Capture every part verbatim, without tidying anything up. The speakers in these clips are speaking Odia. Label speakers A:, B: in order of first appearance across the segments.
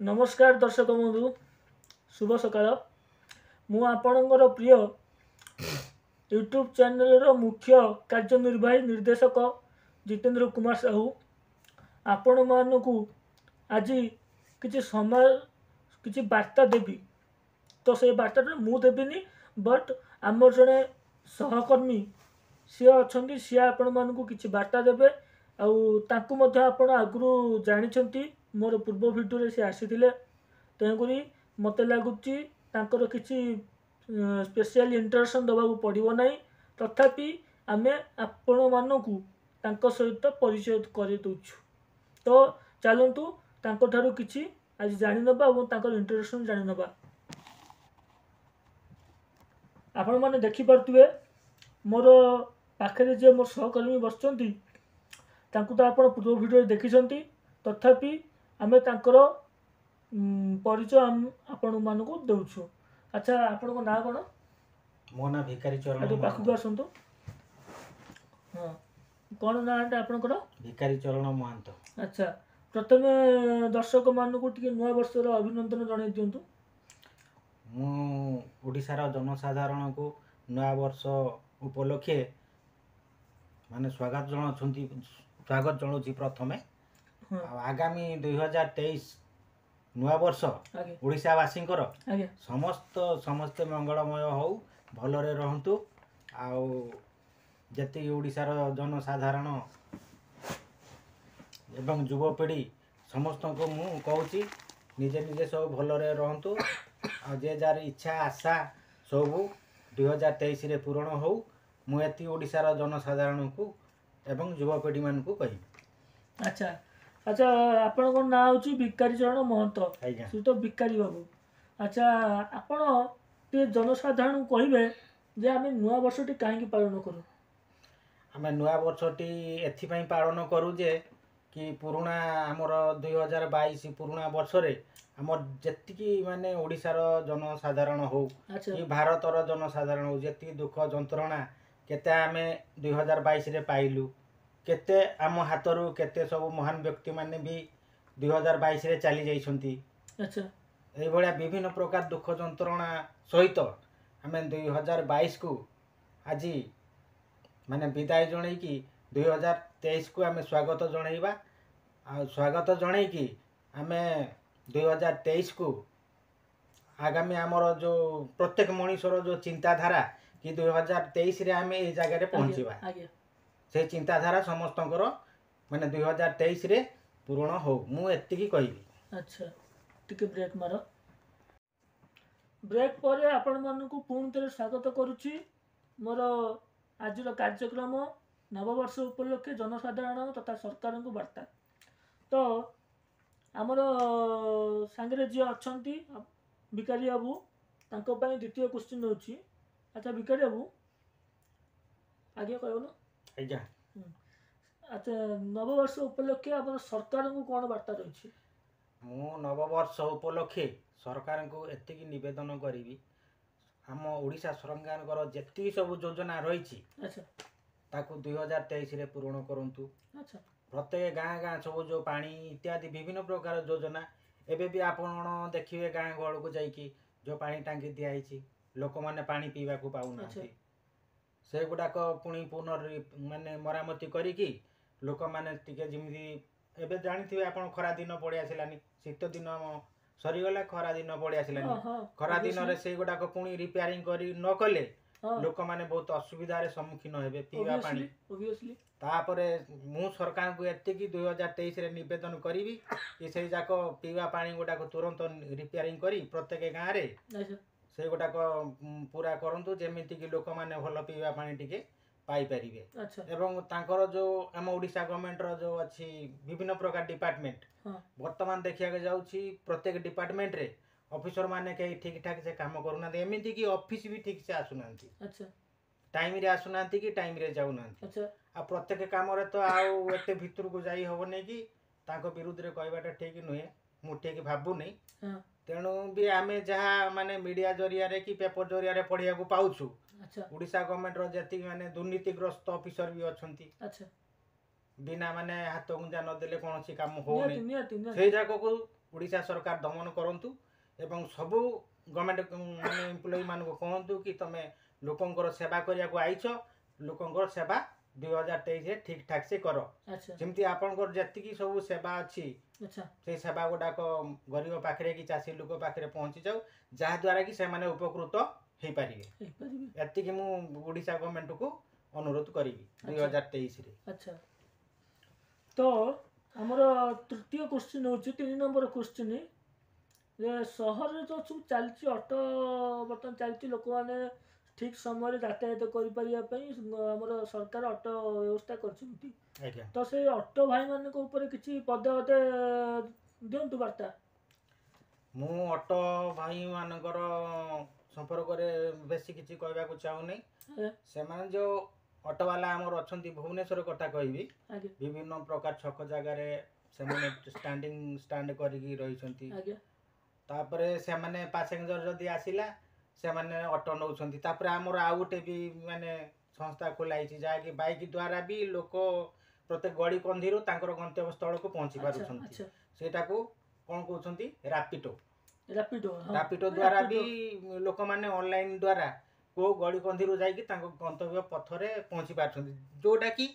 A: ନମସ୍କାର ଦର୍ଶକ ବନ୍ଧୁ, ଶୁଭ ସକାଳ। ମୁଁ ଆପଣଙ୍କର ପ୍ରିୟ ୟୁଟ୍ୟୁବ୍ ଚ୍ୟାନେଲର ମୁଖ୍ୟ କାର୍ଯ୍ୟନିର୍ବାହୀ ନିର୍ଦ୍ଦେଶକ ଜିତେନ୍ଦ୍ର କୁମାର ସାହୁ ଆପଣମାନଙ୍କୁ ଆଜି କିଛି ସମୟ କିଛି ବାର୍ତ୍ତା ଦେବି। ତ ସେଇ ବାର୍ତ୍ତାଟା ମୁଁ ଦେବିନି, ବଟ୍ ଆମର ଜଣେ ସହକର୍ମୀ ସିଏ ଅଛନ୍ତି, ସିଏ ଆପଣମାନଙ୍କୁ କିଛି ବାର୍ତ୍ତା ଦେବେ। ଆଉ ତାଙ୍କୁ ମଧ୍ୟ ଆପଣ ଆଗରୁ ଜାଣିଛନ୍ତି, ମୋର ପୂର୍ବ ଭିଡ଼ିଓରେ ସେ ଆସିଥିଲେ। ତେଣୁକରି ମୋତେ ଲାଗୁଛି ତାଙ୍କର କିଛି ସ୍ପେଶିଆଲ ଇଣ୍ଟ୍ରୋଡକ୍ସନ୍ ଦେବାକୁ ପଡ଼ିବ ନାହିଁ। ତଥାପି ଆମେ ଆପଣମାନଙ୍କୁ ତାଙ୍କ ସହିତ ପରିଚୟ କରିଦେଉଛୁ। ତ ଚାଲନ୍ତୁ ତାଙ୍କଠାରୁ କିଛି ଆଜି ଜାଣିନେବା ଏବଂ ତାଙ୍କର ଇଣ୍ଟ୍ରୋଡକ୍ସନ୍ ଜାଣିନେବା। ଆପଣମାନେ ଦେଖିପାରୁଥିବେ ମୋର ପାଖରେ ଯିଏ ମୋର ସହକର୍ମୀ ବସିଛନ୍ତି, ତାଙ୍କୁ ତ ଆପଣ ପୂର୍ବ ଭିଡ଼ିଓରେ ଦେଖିଛନ୍ତି। ତଥାପି ଆମେ ତାଙ୍କର ପରିଚୟ ଆପଣମାନଙ୍କୁ ଦେଉଛୁ। ଆଚ୍ଛା, ଆପଣଙ୍କ ନାଁ କ'ଣ?
B: ମୋ ନାଁ ଭିକାରୀ ଚରଣ।
A: ଟିକେ ପାଖକୁ ଆସନ୍ତୁ। ହଁ, କ'ଣ ନାଁଟା ଆପଣଙ୍କର?
B: ଭିକାରୀ ଚରଣ ମହାନ୍ତ।
A: ଆଚ୍ଛା, ପ୍ରଥମେ ଦର୍ଶକମାନଙ୍କୁ ଟିକେ ନୂଆ ବର୍ଷର ଅଭିନନ୍ଦନ ଜଣାଇ ଦିଅନ୍ତୁ।
B: ମୁଁ ଓଡ଼ିଶାର ଜନସାଧାରଣଙ୍କୁ ନୂଆ ବର୍ଷ ଉପଲକ୍ଷେ ମାନେ ସ୍ୱାଗତ ଜଣାଉଛନ୍ତି, ସ୍ୱାଗତ ଜଣାଉଛି ପ୍ରଥମେ। ଆଉ ଆଗାମୀ ଦୁଇ ହଜାର ତେଇଶ ନୂଆ ବର୍ଷ ଓଡ଼ିଶାବାସୀଙ୍କର ସମସ୍ତ ସମସ୍ତେ ମଙ୍ଗଳମୟ ହଉ, ଭଲରେ ରହନ୍ତୁ। ଆଉ ଯେତିକି ଓଡ଼ିଶାର ଜନସାଧାରଣ ଏବଂ ଯୁବପିଢ଼ି ସମସ୍ତଙ୍କୁ ମୁଁ କହୁଛି, ନିଜେ ନିଜେ ସବୁ ଭଲରେ ରହନ୍ତୁ। ଆଉ ଯେ ଯାହାର ଇଚ୍ଛା ଆଶା ସବୁ ଦୁଇ ହଜାର ତେଇଶରେ ପୂରଣ ହଉ। ମୁଁ ଏତିକି ଓଡ଼ିଶାର ଜନସାଧାରଣଙ୍କୁ ଏବଂ ଯୁବପିଢ଼ିମାନଙ୍କୁ କହିବି।
A: ଆଚ୍ଛା ଆଚ୍ଛା, ଆପଣଙ୍କ ନାଁ ହେଉଛି ଭିକାରୀ ଚରଣ ମହନ୍ତ?
B: ଆଜ୍ଞା।
A: ସେ ତ ଭିକାରୀ ବାବୁ। ଆଚ୍ଛା, ଆପଣ ଟିକେ ଜନସାଧାରଣଙ୍କୁ କହିବେ ଯେ ଆମେ ନୂଆ ବର୍ଷଟି କାହିଁକି ପାଳନ କରୁ?
B: ଆମେ ନୂଆ ବର୍ଷଟି ଏଥିପାଇଁ ପାଳନ କରୁ ଯେ କି ପୁରୁଣା ଆମର ଦୁଇ ହଜାର ବାଇଶ ପୁରୁଣା ବର୍ଷରେ ଆମର ଯେତିକି ମାନେ ଓଡ଼ିଶାର ଜନସାଧାରଣ ହଉ କି ଭାରତର ଜନସାଧାରଣ ହଉ, ଯେତିକି ଦୁଃଖ ଯନ୍ତ୍ରଣା କେତେ ଆମେ ଦୁଇ ହଜାର ବାଇଶରେ ପାଇଲୁ, କେତେ ଆମ ହାତରୁ କେତେ ସବୁ ମହାନ ବ୍ୟକ୍ତିମାନେ ବି ଦୁଇ ହଜାର ବାଇଶରେ ଚାଲି ଯାଇଛନ୍ତି। ଏଇଭଳିଆ ବିଭିନ୍ନ ପ୍ରକାର ଦୁଃଖ ଯନ୍ତ୍ରଣା ସହିତ ଆମେ ଦୁଇ ହଜାର ବାଇଶକୁ ଆଜି ମାନେ ବିଦାୟ ଜଣେଇକି ଦୁଇ ହଜାର ତେଇଶକୁ ଆମେ ସ୍ୱାଗତ ଜଣେଇବା। ଆଉ ସ୍ୱାଗତ ଜଣେଇକି ଆମେ ଦୁଇ ହଜାର ତେଇଶକୁ ଆଗାମୀ ଆମର ଯେଉଁ ପ୍ରତ୍ୟେକ ମଣିଷର ଯେଉଁ ଚିନ୍ତାଧାରା କି ଦୁଇ ହଜାର ତେଇଶରେ ଆମେ ଏଇ ଜାଗାରେ ପହଞ୍ଚିବା, ସେ ଚିନ୍ତାଧାରା ସମସ୍ତଙ୍କର ମାନେ ଦୁଇ ହଜାର ତେଇଶରେ ପୂରଣ ହଉ, ମୁଁ ଏତିକି କହିବି।
A: ଆଚ୍ଛା, ଟିକେ ବ୍ରେକ୍ ମାର। ବ୍ରେକ୍ ପରେ ଆପଣମାନଙ୍କୁ ପୁଣି ଥରେ ସ୍ୱାଗତ କରୁଛି ମୋର ଆଜିର କାର୍ଯ୍ୟକ୍ରମ ନବବର୍ଷ ଉପଲକ୍ଷେ ଜନସାଧାରଣ ତଥା ସରକାରଙ୍କୁ ବାର୍ତ୍ତା। ତ ଆମର ସାଙ୍ଗରେ ଯିଏ ଅଛନ୍ତି ଭିକାରୀ ବାବୁ, ତାଙ୍କ ପାଇଁ ଦ୍ୱିତୀୟ କ୍ୱେଶ୍ଚିନ୍ ହେଉଛି। ଆଚ୍ଛା ଭିକାରୀ ବାବୁ, ଆଜ୍ଞା କହିବ ନା?
B: ଆଜ୍ଞା।
A: ଆଚ୍ଛା, ନବବର୍ଷ ଉପଲକ୍ଷେ ଆମର ସରକାରଙ୍କୁ କ'ଣ ବାର୍ତ୍ତା ରହିଛି?
B: ମୁଁ ନବବର୍ଷ ଉପଲକ୍ଷେ ସରକାରଙ୍କୁ ଏତିକି ନିବେଦନ କରିବି, ଆମ ଓଡ଼ିଶା ସରକାରଙ୍କର ଯେତିକି ସବୁ ଯୋଜନା ରହିଛି ତାକୁ ଦୁଇ ହଜାର ତେଇଶରେ ପୂରଣ କରନ୍ତୁ। ପ୍ରତ୍ୟେକ ଗାଁ ଗାଁ ସବୁ ଯେଉଁ ପାଣି ଇତ୍ୟାଦି ବିଭିନ୍ନ ପ୍ରକାର ଯୋଜନା, ଏବେ ବି ଆପଣ ଦେଖିବେ ଗାଁ ଗହଳକୁ ଯାଇକି ଯେଉଁ ପାଣି ଟାଙ୍କି ଦିଆହେଇଛି, ଲୋକମାନେ ପାଣି ପିଇବାକୁ ପାଉନାହାନ୍ତି। ସେଗୁଡ଼ାକ ପୁଣି ପୁନର୍ ମାନେ ମରାମତି କରିକି ଲୋକମାନେ ଟିକେ ଯେମିତି ଏବେ ଜାଣିଥିବେ ଆପଣ, ଖରା ଦିନ ପଳେଇ ଆସିଲାନି, ଶୀତ ଦିନ ସରିଗଲା, ଖରା ଦିନ ପଳେଇ ଆସିଲାନି। ଖରା ଦିନରେ ସେଇଗୁଡ଼ାକ ପୁଣି ରିପେୟାରିଂ କରି ନ କଲେ ଲୋକମାନେ ବହୁତ ଅସୁବିଧାରେ ସମ୍ମୁଖୀନ ହେବେ ପିଇବା ପାଣି। ତାପରେ ମୁଁ ସରକାରଙ୍କୁ ଏତିକି ଦୁଇ ହଜାର ତେଇଶରେ ନିବେଦନ କରିବି କି ସେଇ ଯାକ ପିଇବା ପାଣି ଗୁଡ଼ାକ ତୁରନ୍ତ ରିପେୟାରିଂ କରି ପ୍ରତ୍ୟେକ ଗାଁରେ ସେଇଗୁଡ଼ାକ ପୁରା କରନ୍ତୁ, ଯେମିତିକି ଲୋକମାନେ ଭଲ ପିଇବା ପାଣି ଟିକେ ପାଇପାରିବେ। ଏବଂ ତାଙ୍କର ଯେଉଁ ଆମ ଓଡ଼ିଶା ଗଭର୍ଣ୍ଣମେଣ୍ଟର ଯେଉଁ ଅଛି ବିଭିନ୍ନ ପ୍ରକାର ଡିପାର୍ଟମେଣ୍ଟ, ବର୍ତ୍ତମାନ ଦେଖିବାକୁ ଯାଉଛି ପ୍ରତ୍ୟେକ ଡିପାର୍ଟମେଣ୍ଟରେ ଅଫିସର ମାନେ କେହି ଠିକ୍ ଠାକ୍ ସେ କାମ କରୁନାହାନ୍ତି। ଏମିତିକି ଅଫିସ ବି ଠିକ୍ ସେ ଆସୁନାହାନ୍ତି, ଟାଇମରେ ଆସୁନାହାନ୍ତି କି ଟାଇମରେ ଯାଉନାହାନ୍ତି। ଆଉ ପ୍ରତ୍ୟେକ କାମରେ ତ ଆଉ ଏତେ ଭିତରକୁ ଯାଇ ହେବନି କି ତାଙ୍କ ବିରୁଦ୍ଧରେ କହିବାଟା ଠିକ୍ ନୁହେଁ, ମୁଁ ଠିକ୍ ଭାବୁନି। ତେଣୁ ବି ଆମେ ଯାହା ମାନେ ମିଡ଼ିଆ ଜରିଆରେ କି ପେପର ଜରିଆରେ ପଢ଼ିବାକୁ ପାଉଛୁ, ଓଡ଼ିଶା ଗଭର୍ଣ୍ଣମେଣ୍ଟର ଯେତିକି ମାନେ ଦୁର୍ନୀତିଗ୍ରସ୍ତ ଅଫିସର ବି ଅଛନ୍ତି, ବିନା ମାନେ ହାତ ଗୁଞ୍ଜା ନଦେଲେ କୌଣସି କାମ ହଉନି, ସେଇ ଯାକକୁ ଓଡ଼ିଶା ସରକାର ଦମନ କରନ୍ତୁ ଏବଂ ସବୁ ଗଭର୍ଣ୍ଣମେଣ୍ଟ ମାନେ ଏମ୍ପ୍ଲୟିମାନଙ୍କୁ କୁହନ୍ତୁ କି ତମେ ଲୋକଙ୍କର ସେବା କରିବାକୁ ଆଇଛ, ଲୋକଙ୍କର ସେବା ଦୁଇ ହଜାର ତେଇଶରେ ଠିକ୍ ଠାକ୍ ସେ କର।
A: ଆଚ୍ଛା
B: ଯେମିତି ଆପଣଙ୍କର ଯେତିକି ସବୁ ସେବା ଅଛି,
A: ଆଚ୍ଛା
B: ସେଇ ସେବା ଗୁଡ଼ାକ ଗରିବ ପାଖରେ କି ଚାଷୀ ଲୋକ ପାଖରେ ପହଞ୍ଚି ଯାଉ, ଯାହାଦ୍ୱାରା କି ସେମାନେ ଉପକୃତ ହେଇପାରିବେ।
A: ହେଇପାରିବେ।
B: ଏତିକି ମୁଁ ଓଡ଼ିଶା ଗଭର୍ଣ୍ଣମେଣ୍ଟକୁ ଅନୁରୋଧ କରିବି ଦୁଇ ହଜାର ତେଇଶରେ।
A: ଆଚ୍ଛା, ତ ଆମର ତୃତୀୟ କୋଶ୍ଚିନ୍ ହେଉଛି ତିନି ନମ୍ବର କୋଶ୍ଚିନ୍ ଯେ ସହରରେ ଯେଉଁ ସବୁ ଚାଲିଛି ଅଟୋ ବର୍ତ୍ତମାନ ଚାଲିଛି, ଲୋକମାନେ ଠିକ୍ ସମୟରେ ଯାତାୟାତ କରିପାରିବା ପାଇଁ ଆମର ସରକାର ଅଟୋ ବ୍ୟବସ୍ଥା କରିଛନ୍ତି।
B: ଆଜ୍ଞା
A: ତ ସେଇ ଅଟୋ ଭାଇମାନଙ୍କ ଉପରେ କିଛି ପଦେ ଅଧେ ଦିଅନ୍ତୁ ବାର୍ତ୍ତା।
B: ମୁଁ ଅଟୋ ଭାଇମାନଙ୍କର ସମ୍ପର୍କରେ ବେଶୀ କିଛି କହିବାକୁ ଚାହୁଁନି।
A: ଆଜ୍ଞା
B: ସେମାନେ ଯେଉଁ ଅଟୋବାଲା ଆମର ଅଛନ୍ତି, ଭୁବନେଶ୍ୱର କଥା କହିବି,
A: ଆଜ୍ଞା
B: ବିଭିନ୍ନ ପ୍ରକାର ଛକ ଜାଗାରେ ସେମାନେ ଷ୍ଟାଣ୍ଡିଂ ଷ୍ଟାଣ୍ଡ କରିକି ରହିଛନ୍ତି।
A: ଆଜ୍ଞା
B: ତାପରେ ସେମାନେ ପାସେଞ୍ଜର ଯଦି ଆସିଲା ସେମାନେ ଅଟୋ ନେଉଛନ୍ତି। ତାପରେ ଆମର ଆଉ ଗୋଟେ ବି ମାନେ ସଂସ୍ଥା ଖୋଲା ହେଇଛି, ଯାହାକି ବାଇକ୍ ଦ୍ୱାରା ବି ଲୋକ ପ୍ରତ୍ୟେକ ଗଳି କନ୍ଦିରୁ ତାଙ୍କର ଗନ୍ତବ୍ୟ ସ୍ଥଳକୁ ପହଞ୍ଚି
A: ଆଚ୍ଛା
B: ପାରୁଛନ୍ତି।
A: ଆଚ୍ଛା
B: ସେଇଟାକୁ କ'ଣ କହୁଛନ୍ତି, ରାପିଡୋ।
A: ରାପିଡୋ, ହଁ।
B: ରାପିଡୋ ଦ୍ୱାରା ବି ଲୋକମାନେ ଅନଲାଇନ୍ ଦ୍ୱାରା କେଉଁ ଗଳି କନ୍ଦିରୁ ଯାଇକି ତାଙ୍କ ଗନ୍ତବ୍ୟ ପଥରେ ପହଞ୍ଚି ପାରୁଛନ୍ତି, ଯୋଉଟା କି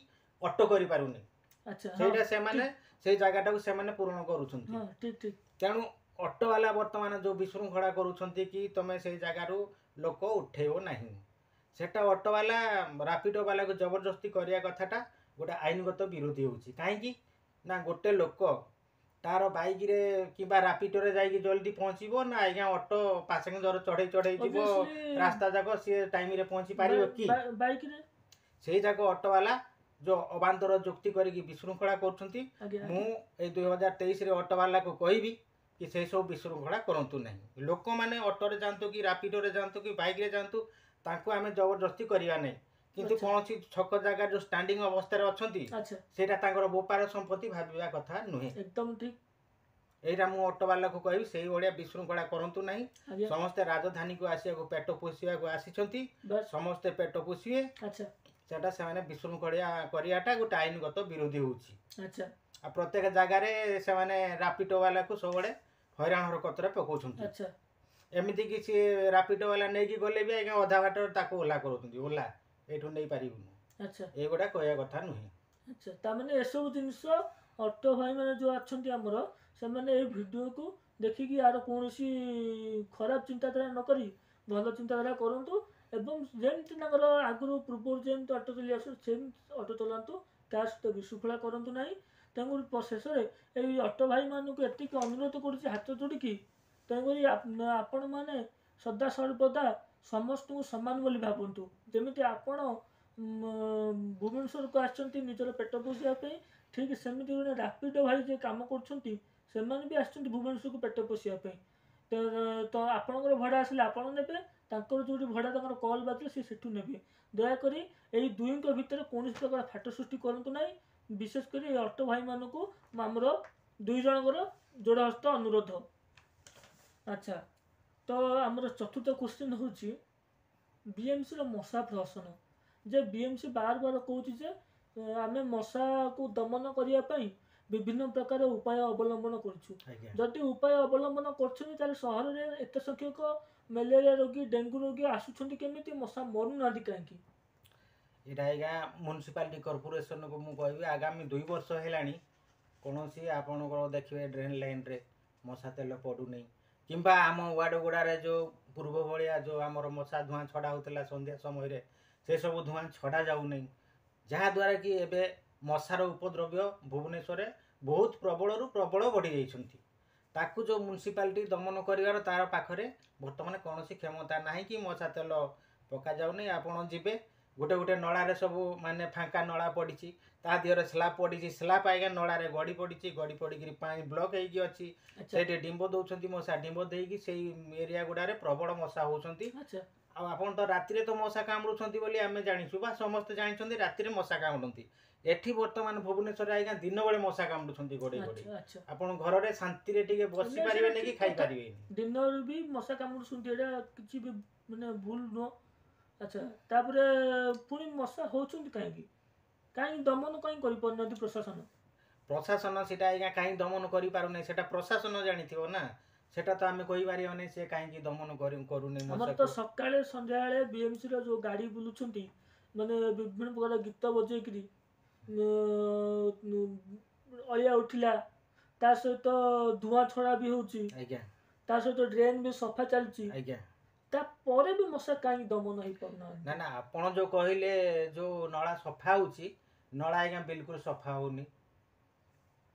B: ଅଟୋ କରିପାରୁନି।
A: ଆଚ୍ଛା ହଁ
B: ସେଇଟା ସେମାନେ ସେଇ ଜାଗାଟାକୁ ସେମାନେ ପୂରଣ କରୁଛନ୍ତି।
A: ହଁ, ଠିକ୍ ଠିକ୍।
B: ତେଣୁ ଅଟୋବାଲା ବର୍ତ୍ତମାନ ଯେଉଁ ବିଶୃଙ୍ଖଳା କରୁଛନ୍ତି କି ତମେ ସେଇ ଜାଗାରୁ ଲୋକ ଉଠେଇବ ନାହିଁ, ସେଟା ଅଟୋବାଲା ରାପିଡୋ ବାଲାକୁ ଜବରଦସ୍ତି କରିବା କଥାଟା ଗୋଟେ ଆଇନଗତ ବିରୋଧୀ ହେଉଛି। କାହିଁକି ନା ଗୋଟେ ଲୋକ ତାର ବାଇକରେ କିମ୍ବା ରାପିଡୋରେ ଯାଇକି ଜଲ୍ଦି ପହଞ୍ଚିବ ନା ଆଜ୍ଞା ଅଟୋ ପାସେଞ୍ଜର ଚଢ଼େଇ ଚଢ଼େଇ ଯିବ
A: Obviously,
B: ରାସ୍ତା ଯାକ, ସିଏ ଟାଇମରେ ପହଞ୍ଚି ପାରିବ କି?
A: ବାଇକରେ।
B: ସେଇ ଯାକ ଅଟୋବାଲା ଯେଉଁ ଅବାନ୍ତର ଯୁକ୍ତି କରିକି ବିଶୃଙ୍ଖଳା କରୁଛନ୍ତି,
A: ଆଜ୍ଞା
B: ମୁଁ ଏଇ ଦୁଇ ହଜାର ତେଇଶରେ ଅଟୋବାଲାକୁ କହିବି କି ସେଇ ସବୁ ବିଶୃଙ୍ଖଳା କରନ୍ତୁ ନାହିଁ। ଲୋକମାନେ ଅଟୋରେ ଯାଆନ୍ତୁ କି ରାପିଡୋରେ ଯାଆନ୍ତୁ କି ବାଇକରେ ଯାଆନ୍ତୁ, ତାଙ୍କୁ ଆମେ ଜବରଦସ୍ତି କରିବା ନାହିଁ। କିନ୍ତୁ
A: ଆଚ୍ଛା।
B: କୌଣସି ଛକ ଜାଗାରେ ଯେଉଁ ଷ୍ଟାଣ୍ଡିଂ ଅବସ୍ଥାରେ ଅଛନ୍ତି,
A: ଆଚ୍ଛା
B: ସେଇଟା ତାଙ୍କର ବୋପାର ସମ୍ପତ୍ତି ଭାବିବା କଥା ନୁହେଁ।
A: ଏକଦମ ଠିକ୍।
B: ଏଇଟା ମୁଁ ଅଟୋବାଲାକୁ କହିବି, ସେଇଭଳିଆ ବିଶୃଙ୍ଖଳା କରନ୍ତୁ ନାହିଁ।
A: ଆଜ୍ଞା
B: ସମସ୍ତେ ରାଜଧାନୀକୁ ଆସିବାକୁ, ପେଟ ପୋଷିବାକୁ ଆସିଛନ୍ତି।
A: ବାସ୍
B: ସମସ୍ତେ ପେଟ ପୋଷିବେ।
A: ଆଚ୍ଛା
B: ସେଟା ସେମାନେ ବିଶୃଙ୍ଖଳା କରିବାଟା ଗୋଟେ ଆଇନଗତ ବିରୋଧୀ ହେଉଛି।
A: ଆଚ୍ଛା
B: ଆଉ ପ୍ରତ୍ୟେକ ଜାଗାରେ ସେମାନେ ରାପିଡୋ ବାଲାକୁ ସବୁବେଳେ ହଇରାଣ ହରକତରେ ପକାଉଛନ୍ତି।
A: ଆଚ୍ଛା
B: ଏମିତିକି ସିଏ ରାପିଡୋ ବାଲା ନେଇକି ଗଲେ ବି ଆଜ୍ଞା ଅଧା ବାଟରେ ତାକୁ ଓହ୍ଲା କରୁଛନ୍ତି, ଓହ୍ଲା ଏଇଠୁ ନେଇପାରିବୁନୁ।
A: ଆଚ୍ଛା
B: ଏଇଗୁଡ଼ା କହିବା କଥା ନୁହେଁ।
A: ଆଚ୍ଛା, ତାମାନେ ଏସବୁ ଜିନିଷ ଅଟୋ ଭାଇମାନେ ଯେଉଁ ଅଛନ୍ତି ଆମର, ସେମାନେ ଏଇ ଭିଡ଼ିଓକୁ ଦେଖିକି ଆର କୌଣସି ଖରାପ ଚିନ୍ତାଧାରା ନ କରି ଭଲ ଚିନ୍ତାଧାରା କରନ୍ତୁ ଏବଂ ଯେମିତି ତାଙ୍କର ଆଗରୁ ପୂର୍ବରୁ ଯେମିତି ଅଟୋ ଚଲେଇ ଆସୁ ସେମିତି ଅଟୋ ଚଲାନ୍ତୁ, ତା ସହିତ ବିଶୃଙ୍ଖଳା କରନ୍ତୁ ନାହିଁ। ତେଣୁକରି ପ- ଶେଷରେ ଏଇ ଅଟୋ ଭାଇମାନଙ୍କୁ ଏତିକି ଅନୁରୋଧ କରୁଛି ହାତ ଯୋଡ଼ିକି, ତେଣୁକରି ଆପ- ଆପଣମାନେ ସଦା ସର୍ବଦା ସମସ୍ତଙ୍କୁ ସମାନ ବୋଲି ଭାବନ୍ତୁ। ଯେମିତି ଆପଣ ଉମ, ଭୁବନେଶ୍ୱରକୁ ଆସିଛନ୍ତି ନିଜର ପେଟ ପୋଷିବା ପାଇଁ, ଠିକ୍ ସେମିତି ଗୋଟେ ରାପିଡୋ ଭାଇ ଯିଏ କାମ କରୁଛନ୍ତି ସେମାନେ ବି ଆସିଛନ୍ତି ଭୁବନେଶ୍ୱରକୁ ପେଟ ପୋଷିବା ପାଇଁ। ତ ତ ଆପଣଙ୍କର ଭଡ଼ା ଆସିଲେ ଆପଣ ନେବେ, ତାଙ୍କର ଯେଉଁଠି ଭଡ଼ା ତାଙ୍କର କଲ୍ ବାଜିଲେ ସେ ସେଠୁ ନେବେ। ଦୟାକରି ଏଇ ଦୁଇଙ୍କ ଭିତରେ କୌଣସି ପ୍ରକାର ଫାଟ ସୃଷ୍ଟି କରନ୍ତୁ ନାହିଁ। ବିଶେଷ କରି ଏଇ ଅଟୋ ଭାଇମାନଙ୍କୁ ଆମର ଦୁଇ ଜଣଙ୍କର ଯୋଡ଼ ହସ୍ତ ଅନୁରୋଧ। ଆଚ୍ଛା, ତ ଆମର ଚତୁର୍ଥ କୋଶ୍ଚିନ୍ ହେଉଛି ବିଏମ୍ସିର ମଶା ପ୍ରହସନ। ଯେ ବିଏମ୍ସି ବାର ବାର କହୁଛି ଯେ ଏ, ଆମେ ମଶାକୁ ଦମନ କରିବା ପାଇଁ ବିଭିନ୍ନ ପ୍ରକାର ଉପାୟ ଅବଲମ୍ବନ କରୁଛୁ।
B: ଆଜ୍ଞା
A: ଯଦି ଉପାୟ ଅବଲମ୍ବନ କରୁଛନ୍ତି, ତାହେଲେ ସହରରେ ଏତେ ସଂଖ୍ୟକ ମ୍ୟାଲେରିଆ ରୋଗୀ, ଡେଙ୍ଗୁ ରୋଗୀ ଆସୁଛନ୍ତି କେମିତି? ମଶା ମରୁନାହାନ୍ତି କାହିଁକି?
B: ଏଇଟା ଆଜ୍ଞା ମ୍ୟୁନିସିପାଲିଟି କର୍ପୋରେସନକୁ ମୁଁ କହିବି, ଆଗାମୀ ଦୁଇ ବର୍ଷ ହେଲାଣି କୌଣସି ଆପଣଙ୍କର ଦେଖିବେ ଡ୍ରେନ୍ ଲାଇନ୍ରେ ମଶା ତେଲ ପଡ଼ୁନି, କିମ୍ବା ଆମ ୱାର୍ଡ଼ ଗୁଡ଼ାରେ ଯେଉଁ ପୂର୍ବ ଭଳିଆ ଯେଉଁ ଆମର ମଶା ଧୂଆଁ ଛଡ଼ା ହେଉଥିଲା ସନ୍ଧ୍ୟା ସମୟରେ, ସେସବୁ ଧୂଆଁ ଛଡ଼ା ଯାଉନାହିଁ, ଯାହାଦ୍ୱାରା କି ଏବେ ମଶାର ଉପଦ୍ରବ୍ୟ ଭୁବନେଶ୍ୱରରେ ବହୁତ ପ୍ରବଳରୁ ପ୍ରବଳ ବଢ଼ିଯାଇଛନ୍ତି। ତାକୁ ଯେଉଁ ମ୍ୟୁନିସିପାଲିଟି ଦମନ କରିବାର ତାର ପାଖରେ ବର୍ତ୍ତମାନ କୌଣସି କ୍ଷମତା ନାହିଁ କି ମଶା ତେଲ ପକାଯାଉନି। ଆପଣ ଯିବେ, ଗୋଟେ ଗୋଟେ ନଳାରେ ସବୁ ମାନେ ଫାଙ୍କା ନଳା ପଡ଼ିଛି, ତା ଦେହରେ ସ୍ଲାବ୍ ପଡ଼ିଛି, ସ୍ଲାବ୍ ଆଜ୍ଞା ନଳାରେ ଗଡ଼ି ପଡ଼ିଛି, ଗଡ଼ି ପଡ଼ିକିରି ପାଣି ବ୍ଲକ୍ ହେଇକି ଅଛି।
A: ଆଚ୍ଛା
B: ସେଇଠି ଡିମ୍ବ ଦେଉଛନ୍ତି ମଶା, ଡିମ୍ବ ଦେଇକି ସେଇ ଏରିଆ ଗୁଡ଼ାରେ ପ୍ରବଳ ମଶା ହେଉଛନ୍ତି।
A: ଆଚ୍ଛା
B: ଆଉ ଆପଣ ତ ରାତିରେ ତ ମଶା କାମୁଡ଼ୁଛନ୍ତି ବୋଲି ଆମେ ଜାଣିଛୁ ବା ସମସ୍ତେ ଜାଣିଛନ୍ତି ରାତିରେ ମଶା କାମୁଡ଼ନ୍ତି। ଏଠି ବର୍ତ୍ତମାନ ଭୁବନେଶ୍ୱରରେ ଆଜ୍ଞା ଦିନବେଳେ ମଶା କାମୁଡ଼ୁଛନ୍ତି ଗୋଡ଼େଇ ଗୋଡ଼େଇ।
A: ଆଚ୍ଛା ଆଚ୍ଛା
B: ଆପଣ ଘରରେ ଶାନ୍ତିରେ ଟିକେ ବସି
A: ନାଇଁ, ସେଇଟା
B: ପାରିବେନି କି
A: ଠିକ୍ କଥା।
B: ଖାଇପାରିବେନି।
A: ଦିନରେ ବି ମଶା କାମୁଡ଼ୁଛନ୍ତି, ଏଇଟା କିଛି ବି ମାନେ ଭୁଲ ନୁହଁ। ଆଚ୍ଛା, ତାପରେ ପୁଣି ମଶା ହେଉଛନ୍ତି କାହିଁକି? କାହିଁକି ଦମନ କାହିଁ କରିପାରୁନାହାନ୍ତି ପ୍ରଶାସନ?
B: ପ୍ରଶାସନ ସେଇଟା ଆଜ୍ଞା କାହିଁ ଦମନ କରିପାରୁନାହିଁ, ସେଇଟା ପ୍ରଶାସନ ଜାଣିଥିବ ନା, ସେଟା ତ ଆମେ କହିପାରିବାନି ସେ କାହିଁକି ଦମନ କରୁନି।
A: ଆମର ତ ସକାଳେ ସନ୍ଧ୍ୟାବେଳେ ବିଏମସି ର ଯୋଉ ଗାଡ଼ି ବୁଲୁଛନ୍ତି, ମାନେ ବିଭିନ୍ନ ପ୍ରକାର ଗୀତ ବଜେଇକିରି ଅଳିଆ ଉଠିଲା, ତା ସହିତ ଧୂଆଁ ଛଡ଼ା ବି ହେଉଛି
B: ଆଜ୍ଞା,
A: ତା ସହିତ ଡ୍ରେନ୍ ବି ସଫା ଚାଲିଛି
B: ଆଜ୍ଞା,
A: ତାପରେ ବି ମଶା କାହିଁକି ଦମନ ହେଇପାରୁନାହାନ୍ତି?
B: ନା ନା, ଆପଣ ଯୋଉ କହିଲେ ଯୋଉ ନଳା ସଫା ହେଉଛି, ନଳା ଆଜ୍ଞା ବିଲକୁଲ ସଫା ହେଉନି।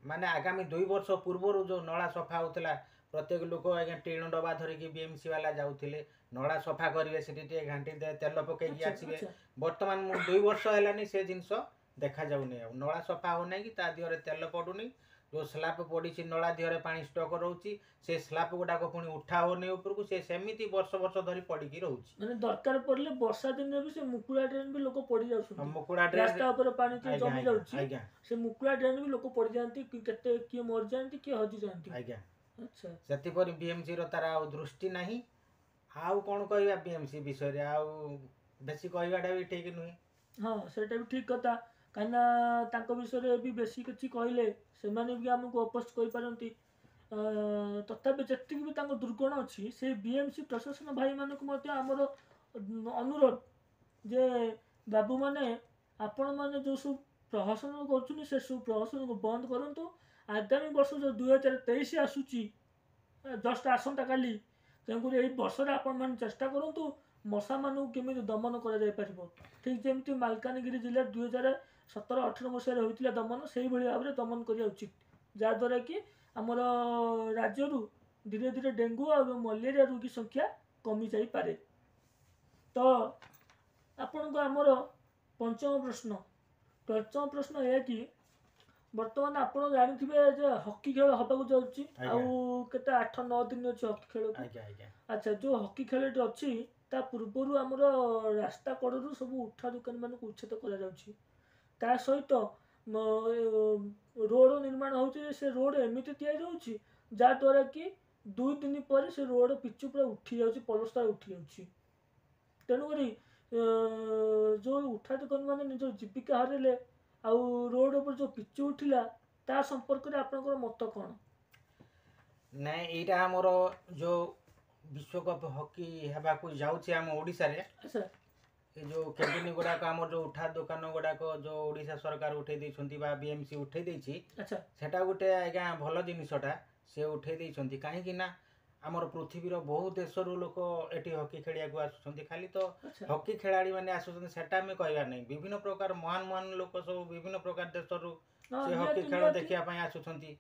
B: ମାନେ ଆଗାମୀ ଦୁଇ ବର୍ଷ ପୂର୍ବରୁ ଯୋଉ ନଳା ସଫା ହେଉଥିଲା, ପ୍ରତ୍ୟେକ ଲୋକ ଆଜ୍ଞା ଟିଣ ଡବା ଧରିକି ବିଏମସି ବାଲା ଯାଉଥିଲେ, ନଳା ସଫା କରିବେ, ସେଠି ଟିକେ ଘାଣ୍ଟି ତେଲ ପକେଇକି ଆସିବେ। ବର୍ତ୍ତମାନ ମୁଁ ଦୁଇ ବର୍ଷ ହେଲାନି ସେ ଜିନିଷ ଦେଖାଯାଉନି, ଆଉ ନଳା ସଫା ହେଉନାହିଁ କି ତା ଦେହରେ ତେଲ ପଡ଼ୁନି। ଯେଉଁ ସ୍ଲାବ୍ ପଡ଼ିଛି ନଳା ଦେହରେ ପାଣି ଷ୍ଟକ୍ ରହୁଛି, ସେ ସ୍ଲାବ୍ ଗୁଡ଼ାକ ପୁଣି ଉଠା ହେଉନି ଉପରକୁ, ସେ ସେମିତି ବର୍ଷ ବର୍ଷ ଧରି ପଡ଼ିକି ରହୁଛି।
A: ମାନେ ଦରକାର ପଡ଼ିଲେ ବର୍ଷା ଦିନରେ ବି ସେ ମୁକୁଳା ଡ୍ରେନ୍ ବି ଲୋକ ପଡ଼ି ଯାଉଛନ୍ତି,
B: ମୁକୁଳା ଡ୍ରେନ୍
A: ରାସ୍ତା ଉପରେ ପାଣି ଜମି ଯାଉଛି, ସେ ମୁକୁଳା ଡ୍ରେନ୍ ବି ଲୋକ ପଡ଼ିଯାଆନ୍ତି, କେତେ କିଏ ମରିଯାଆନ୍ତି, କିଏ ହଜିଯାଆନ୍ତି
B: ଆଜ୍ଞା। ଆଚ୍ଛା, ସେଥିପରି ବିଏମସି ର ତାର ଆଉ ଦୃଷ୍ଟି ନାହିଁ। ଆଉ କ'ଣ କହିବା ବିଏମସି ବିଷୟରେ, ଆଉ ବେଶୀ କହିବାଟା ବି ଠିକ୍ ନୁହେଁ।
A: ହଁ, ସେଇଟା ବି ଠିକ୍ କଥା, କାହିଁକିନା ତାଙ୍କ ବିଷୟରେ ବି ବେଶୀ କିଛି କହିଲେ ସେମାନେ ବି ଆମକୁ ଅପୋଜ କରିପାରନ୍ତି। ତଥାପି ଯେତିକି ବି ତାଙ୍କ ଦୁର୍ଗୁଣ ଅଛି, ସେଇ ବିଏମସି ପ୍ରଶାସନ ଭାଇମାନଙ୍କୁ ମଧ୍ୟ ଆମର ଅନୁରୋଧ ଯେ ବାବୁମାନେ, ଆପଣମାନେ ଯେଉଁ ସବୁ ପ୍ରହସନ କରୁଛନ୍ତି ସେସବୁ ପ୍ରହସନକୁ ବନ୍ଦ କରନ୍ତୁ। ଆଗାମୀ ବର୍ଷ ଯେଉଁ ଦୁଇ ହଜାର ତେଇଶ ଆସୁଛି, ଜଷ୍ଟ ଆସନ୍ତାକାଲି, ତେଣୁକରି ଏଇ ବର୍ଷରେ ଆପଣମାନେ ଚେଷ୍ଟା କରନ୍ତୁ ମଶାମାନଙ୍କୁ କେମିତି ଦମନ କରାଯାଇପାରିବ। ଠିକ୍ ଯେମିତି ମାଲକାନଗିରି ଜିଲ୍ଲାରେ ଦୁଇ ହଜାର ସତର ଅଠର ମସିହାରେ ହୋଇଥିଲା ଦମନ, ସେଇଭଳି ଭାବରେ ଦମନ କରିବା ଉଚିତ, ଯାହାଦ୍ୱାରା କି ଆମର ରାଜ୍ୟରୁ ଧୀରେ ଧୀରେ ଡେଙ୍ଗୁ ଆଉ ମ୍ୟାଲେରିଆ ରୋଗୀ ସଂଖ୍ୟା କମିଯାଇପାରେ। ତ ଆପଣଙ୍କୁ ଆମର ପଞ୍ଚମ ପ୍ରଶ୍ନ, ପଞ୍ଚମ ପ୍ରଶ୍ନ ଏହା କି ବର୍ତ୍ତମାନ ଆପଣ ଜାଣିଥିବେ ଯେ ହକି ଖେଳ ହେବାକୁ ଯାଉଛି, ଆଉ କେତେ ଆଠ ନଅ ଦିନ ଅଛି ହକି ଖେଳକୁ। ଆଚ୍ଛା, ଯେଉଁ ହକି ଖେଳଟି ଅଛି ତା ପୂର୍ବରୁ ଆମର ରାସ୍ତା କଡ଼ରୁ ସବୁ ଉଠା ଦୋକାନମାନଙ୍କୁ ଉଚ୍ଛେଦ କରାଯାଉଛି, ତା ସହିତ ରୋଡ଼ ନିର୍ମାଣ ହେଉଛି, ସେ ରୋଡ଼ ଏମିତି ତିଆରି ହେଉଛି ଯାହାଦ୍ୱାରା କି ଦୁଇ ଦିନ ପରେ ସେ ରୋଡ଼ ପିଚୁ ପୁରା ଉଠି ଯାଉଛି, ପଲସ୍ତରା ଉଠି ଯାଉଛି। ତେଣୁକରି ଯେଉଁ ଉଠା ଦୋକାନମାନେ ନିଜର ଜୀବିକା ହରାଇଲେ ଆଉ ରୋଡ଼ ଉପରେ ଯେଉଁ ପିଚୁ ଉଠିଲା, ତା ସମ୍ପର୍କରେ ଆପଣଙ୍କର ମତ କ'ଣ?
B: ନାଇଁ, ଏଇଟା ଆମର ଯେଉଁ ବିଶ୍ୱକପ୍ ହକି ହେବାକୁ ଯାଉଛି ଆମ ଓଡ଼ିଶାରେ, ଏ ଯେଉଁ କ୍ୟାଣ୍ଟିନ୍ ଗୁଡ଼ାକ ଆମର ଯେଉଁ ଉଠା ଦୋକାନ ଗୁଡ଼ାକ ଯେଉଁ ଓଡ଼ିଶା ସରକାର ଉଠେଇ ଦେଇଛନ୍ତି ବା ବିଏମସି ଉଠେଇ ଦେଇଛି, ସେଟା ଗୋଟେ ଆଜ୍ଞା ଭଲ ଜିନିଷଟା ସେ ଉଠେଇ ଦେଇଛନ୍ତି। କାହିଁକି ନା ଆମର ପୃଥିବୀର ବହୁ ଦେଶରୁ ଲୋକ ଏଠି ହକି ଖେଳିବାକୁ ଆସୁଛନ୍ତି। ଖାଲି ତ ହକି ଖେଳାଳି ମାନେ ଆସୁଛନ୍ତି ସେଟା ଆମେ କହିବା ନାହିଁ, ବିଭିନ୍ନ ପ୍ରକାର ମହାନ ମହାନ ଲୋକ ସବୁ ବିଭିନ୍ନ ପ୍ରକାର ଦେଶରୁ ସେ ହକି ଖେଳ ଦେଖିବା ପାଇଁ ଆସୁଛନ୍ତି।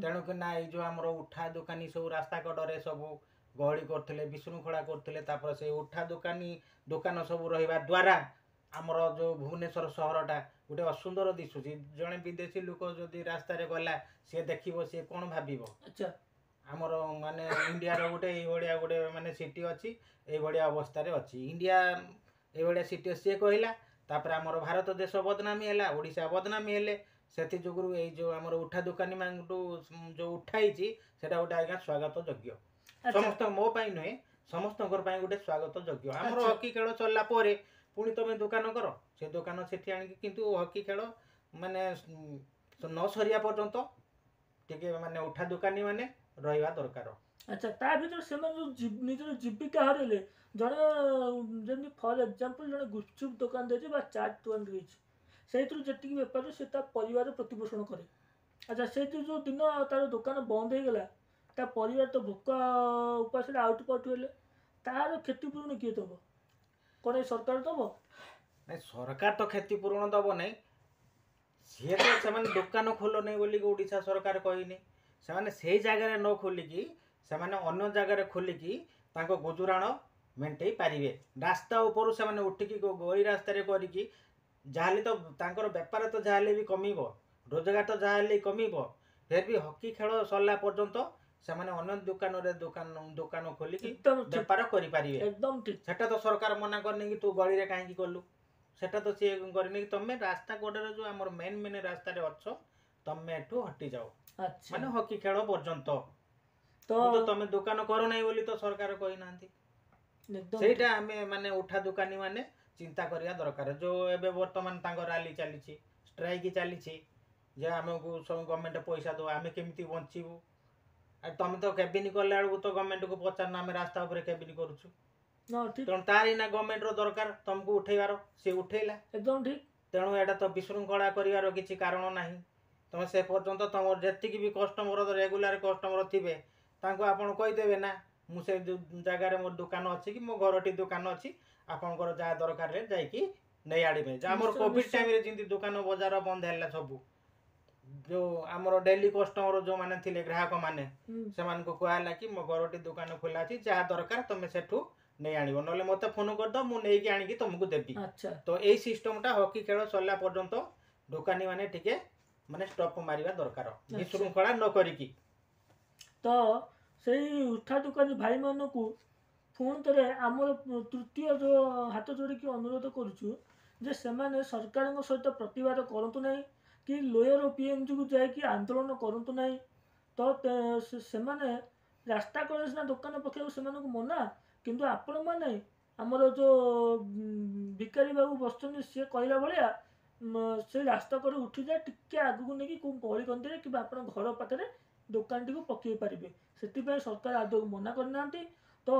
B: ତେଣୁକି ନା ଏଇ ଯେଉଁ ଆମର ଉଠା ଦୋକାନୀ ସବୁ ରାସ୍ତା କଡ଼ରେ ସବୁ ଗହଳି କରୁଥିଲେ, ବିଶୃଙ୍ଖଳା କରୁଥିଲେ, ତାପରେ ସେ ଉଠା ଦୋକାନୀ ଦୋକାନ ସବୁ ରହିବା ଦ୍ୱାରା ଆମର ଯେଉଁ ଭୁବନେଶ୍ୱର ସହରଟା ଗୋଟେ ଅସୁନ୍ଦର ଦିଶୁଛି। ଜଣେ ବିଦେଶୀ ଲୋକ ଯଦି ରାସ୍ତାରେ ଗଲା, ସିଏ ଦେଖିବ, ସିଏ କ'ଣ ଭାବିବ? ଆମର ମାନେ ଇଣ୍ଡିଆର ଗୋଟେ ଏଇଭଳିଆ ଗୋଟେ ମାନେ ସିଟି ଅଛି, ଏଇଭଳିଆ ଅବସ୍ଥାରେ ଅଛି ଇଣ୍ଡିଆ, ଏଇଭଳିଆ ସିଟି ସିଏ କହିଲା। ତାପରେ ଆମର ଭାରତ ଦେଶ ବଦନାମୀ ହେଲା, ଓଡ଼ିଶା ବଦନାମୀ ହେଲେ। ସେଥି ଯୋଗୁରୁ ଏଇ ଯେଉଁ ଆମର ଉଠା ଦୋକାନୀ ମାନଙ୍କଠୁ ଯେଉଁ ଉଠା ହେଇଛି ସେଇଟା ଗୋଟେ ଆଜ୍ଞା ସ୍ୱାଗତ ଯୋଗ୍ୟ, ସମସ୍ତ ମୋ ପାଇଁ ନୁହେଁ, ସମସ୍ତଙ୍କର ପାଇଁ ଗୋଟେ ସ୍ୱାଗତ ଯୋଗ୍ୟ। ଆମର ହକି ଖେଳ ସରିଲା ପରେ ପୁଣି ତମେ ଦୋକାନ କର, ସେ ଦୋକାନ ସେଠି ଆଣିକି, କିନ୍ତୁ ହକି ଖେଳ ମାନେ ନ ସରିବା ପର୍ଯ୍ୟନ୍ତ ଟିକେ ମାନେ ଉଠା ଦୋକାନୀ ମାନେ ରହିବା ଦରକାର।
A: ଆଚ୍ଛା, ତା ଭିତରେ ସେମାନେ ଯେଉଁ ନିଜର ଜୀବିକା ହରାଇଲେ, ଜଣେ ଯେମିତି ଫର୍ ଏକ୍ଜାମ୍ପଲ୍ ଜଣେ ଗୁପଚୁପ୍ ଦୋକାନ ଦେଇଛି ବା ଚାଟ୍ ଦୋକାନ ଦେଇଛି, ସେଇଥିରୁ ଯେତିକି ବେପାର ସେ ତା ପରିବାର ପ୍ରତିପୋଷଣ କରେ। ଆଚ୍ଛା, ସେଇଥିରୁ ଯେଉଁ ଦିନ ତାର ଦୋକାନ ବନ୍ଦ ହେଇଗଲା, ତା ପରିବାର ତ ଭୋକ ଉପାସରେ ଆଉଟୁ ପାଉଟୁ ହେଲେ, ତାର କ୍ଷତିପୂରଣ କିଏ ଦେବ? କ'ଣ ଏ ସରକାର ଦେବ?
B: ନାଇଁ, ସରକାର ତ କ୍ଷତିପୂରଣ ଦେବ ନାହିଁ। ସିଏ ତ ସେମାନେ ଦୋକାନ ଖୋଲ ନାହିଁ ବୋଲି ଓଡ଼ିଶା ସରକାର କହିନି। ସେମାନେ ସେଇ ଜାଗାରେ ନ ଖୋଲିକି ସେମାନେ ଅନ୍ୟ ଜାଗାରେ ଖୋଲିକି ତାଙ୍କ ଗୁଜୁରାଣ ମେଣ୍ଟେଇ ପାରିବେ। ରାସ୍ତା ଉପରୁ ସେମାନେ ଉଠିକି ଗଳି ରାସ୍ତାରେ କରିକି ଯାହାହେଲେ ତ ତାଙ୍କର ବେପାର ତ ଯାହାହେଲେ ବି କମିବ, ରୋଜଗାର ତ ଯାହାହେଲେ କମିବ। ଫେର୍ ବି ହକି ଖେଳ ସରିଲା ପର୍ଯ୍ୟନ୍ତ ସେମାନେ ଅନ୍ୟ ଦୋକାନରେ ଦୋକାନ ଦୋକାନ ଖୋଲିକି ବେପାର କରିପାରିବେ।
A: ଏକଦମ ଠିକ।
B: ସେଟା ତ ସରକାର ମନା କରିନି କି ତୁ ଗଳିରେ କାହିଁକି କଲୁ, ସେଟା ତ ସିଏ କରିନି କି ତମେ ରାସ୍ତା କଡ଼ରେ ଯେଉଁ ଆମର ମେନ୍ ମେନ୍ ରାସ୍ତାରେ ଅଛ ତମେ ଏଠୁ ହଟିଯାଅ, ମାନେ ହକି ଖେଳ ପର୍ଯ୍ୟନ୍ତ ତ ତମେ ଦୋକାନ କର ନାହିଁ ବୋଲି ତ ସରକାର କହିନାହାନ୍ତି। ସେଇଟା ଆମେ ମାନେ ଉଠା ଦୋକାନୀ ମାନେ ଚିନ୍ତା କରିବା ଦରକାର। ଯେଉଁ ଏବେ ବର୍ତ୍ତମାନ ତାଙ୍କ ରାଲି ଚାଲିଛି, ଷ୍ଟ୍ରାଇକ୍ ଚାଲିଛି, ଯେ ଆମକୁ ସବୁ ଗଭର୍ଣ୍ଣମେଣ୍ଟ ପଇସା ଦେବ, ଆମେ କେମିତି ବଞ୍ଚିବୁ? ଆଉ ତମେ ତ କେବିନ କଲା ବେଳକୁ ତ ଗଭର୍ଣ୍ଣମେଣ୍ଟକୁ ପଚାରୁନ, ଆମେ ରାସ୍ତା ଉପରେ କେବିନ କରୁଛୁ। ତେଣୁ ତାର ନା ଗଭର୍ଣ୍ଣମେଣ୍ଟର ଦରକାର ତମକୁ ଉଠେଇବାର, ସେ ଉଠେଇଲା।
A: ଏକଦମ ଠିକ।
B: ତେଣୁ ଏଇଟା ତ ବିଶୃଙ୍ଖଳା କରିବାର କିଛି କାରଣ ନାହିଁ। ତମେ ସେ ପର୍ଯ୍ୟନ୍ତ ତମର ଯେତିକି ବି କଷ୍ଟମର, ରେଗୁଲାର କଷ୍ଟମର ଥିବେ, ତାଙ୍କୁ ଆପଣ କହିଦେବେ ନା ମୁଁ ସେ ଜାଗାରେ ମୋର ଦୋକାନ ଅଛି କି ମୋ ଘରଟି ଦୋକାନ ଅଛି, ଆପଣଙ୍କର ଯାହା ଦରକାରରେ ଯାଇକି ନେଇ ଆଣିବେ। ଆମର କୋଭିଡ ଟାଇମରେ ଯେମିତି ଦୋକାନ ବଜାର ବନ୍ଦ ହେଲା ସବୁ, ଯେଉଁ ଆମର ଡେଲି କଷ୍ଟମର ଯେଉଁମାନେ ଥିଲେ ଗ୍ରାହକମାନେ, ସେମାନଙ୍କୁ କୁହାହେଲା କି ମୋ ଘରଟି ଦୋକାନ ଖୋଲା ଅଛି, ଯାହା ଦରକାର ତମେ ସେଠୁ ନେଇ ଆଣିବ, ନହେଲେ ମୋତେ ଫୋନ କରିଦବ, ମୁଁ ନେଇକି ଆଣିକି ତମକୁ ଦେବି। ତ ଏଇ ସିଷ୍ଟମଟା ହକି ଖେଳ ସରିଲା ପର୍ଯ୍ୟନ୍ତ ଦୋକାନୀ ମାନେ ଟିକେ ମାନେ ଷ୍ଟପ୍ ମାରିବା ଦରକାର, ବିଶୃଙ୍ଖଳା ନ କରିକି।
A: ତ ସେଇ ଉଠା ଦୋକାନୀ ଭାଇମାନଙ୍କୁ ପୁଣି ଥରେ ଆମର ତୃତୀୟ ଯେଉଁ ହାତ ଯୋଡ଼ିକି ଅନୁରୋଧ କରୁଛୁ ଯେ ସେମାନେ ସରକାରଙ୍କ ସହିତ ପ୍ରତିବାଦ କରନ୍ତୁ ନାହିଁ କି ଲୋୟର ପିଏମ୍ଜିକୁ ଯାଇକି ଆନ୍ଦୋଳନ କରନ୍ତୁ ନାହିଁ। ତ ସେମାନେ ରାସ୍ତା କଡ଼ରେ ସିନା ଦୋକାନ ପକାଇବାକୁ ସେମାନଙ୍କୁ ମନା, କିନ୍ତୁ ଆପଣମାନେ ଆମର ଯେଉଁ ଭିକାରୀ ବାବୁ ବସୁଛନ୍ତି ସିଏ କହିଲା ଭଳିଆ ସେ ରାସ୍ତା କଡ଼ରେ ଉଠିଯାଏ ଟିକେ ଆଗକୁ ନେଇକି କେଉଁ ଗଳି କନ୍ଦିରେ କିମ୍ବା ଆପଣ ଘର ପାଖରେ ଦୋକାନଟିକୁ ପକାଇ ପାରିବେ। ସେଥିପାଇଁ ସରକାର ଆଦୌ ମନା କରିନାହାନ୍ତି। ତ